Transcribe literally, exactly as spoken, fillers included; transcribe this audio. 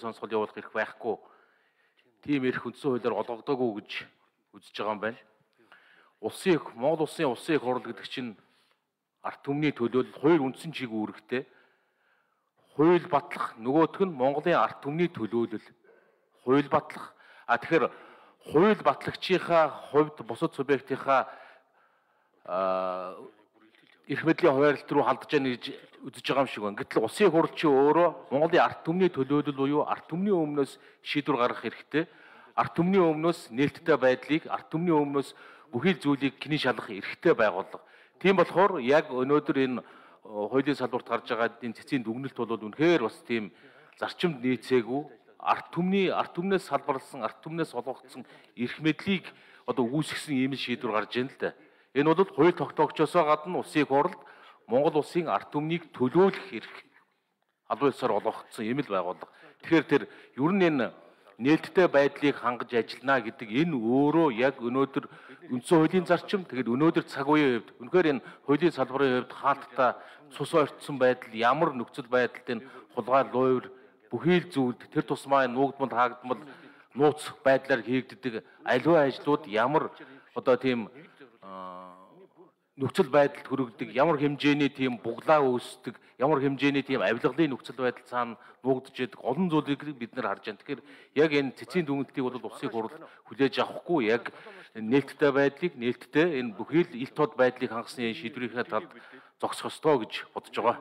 сонсгол явуулах эрх байхгүй. Тийм эрх үндсэн хуулиар олгодоогүй гэж үзэж байгаа юм байна. Улсын их Монгол улсын улсын их хурл гэдэг чинь ард түмний төлөөлөл хоёр үндсэн чиг үүрэгтэй. Хууль батлах, нөгөөх нь Монголын ард түмний төлөөлөл. Хууль батлах. А тэгэхээр хууль батлагчийнхаа хувьд бусад субъектийнхаа эрх мэдлийн хуваарлт руу халдж яана гэж үзэж байгаа юм шиг байна. Гэтэл улсын хурл чи өөрөө Монголын ард түмний төлөөлөл буюу ард түмний өмнөөс шийдвэр гаргах хэрэгтэй. Ард түмний өмнөөс нээлттэй байдлыг, ард түмний өмнөөс бүхий л зүйлийг кний шалгах эрхтэй байгууллага. Тийм болохоор яг өнөөдөр энэ хуулийн салбарт гарч байгаа энэ цэцгийн дүгнэлт бол үнэхээр бас тийм зарчимд нийцээгүй ард түмний ард түмнээс салбарлсан, ард түмнээс олгогдсон эрх мэдлийг одоо үүсгэсэн ийм шийдвэр гарч ийн л да. Энэ бол хууль тогтоогчосоо гадна улсын их хурлд Монгол улсын ард түмнийг төлөөлөх эрх албан ёсоор олгогдсон ийм л байгууллага. Тэгэхээр тэр ер нь энэ нээлттэй байдлыг хангаж ажиллана гэдэг энэ өөрөө яг өнөөдөр үндсэн хуулийн зарчим тэгээд өнөөдөр цаг үеийн хувьд үнэхээр энэ хуулийн салбарын хувьд хаалттай цус ойртсон байдал ямар нөхцөл байдалд энэ хулгай луйр бүхий л зүйлд тэр тусмаа нуугдмал хаагдмал нууц байдлаар хийгддэг аливаа ажлууд ямар одоо тийм нөхцөл байдалд хүрэгдэг, ямар хэмжээний тийм буглаа үүсдэг, ямар хэмжээний тийм авилгалын нөхцөл байдал цаана нуугдж байдаг олон зүйлийг бид нар харж байна. Тэгэхээр яг энэ цэцгийн дүгнэлтийг бол улсын хурл хүлээж авахгүй яг нээлттэй байдлыг, нээлттэй энэ бүхий л ил тод байдлыг хангасны шийдвэрийнхээ талд зогсох ёстой гэж бодож байгаа.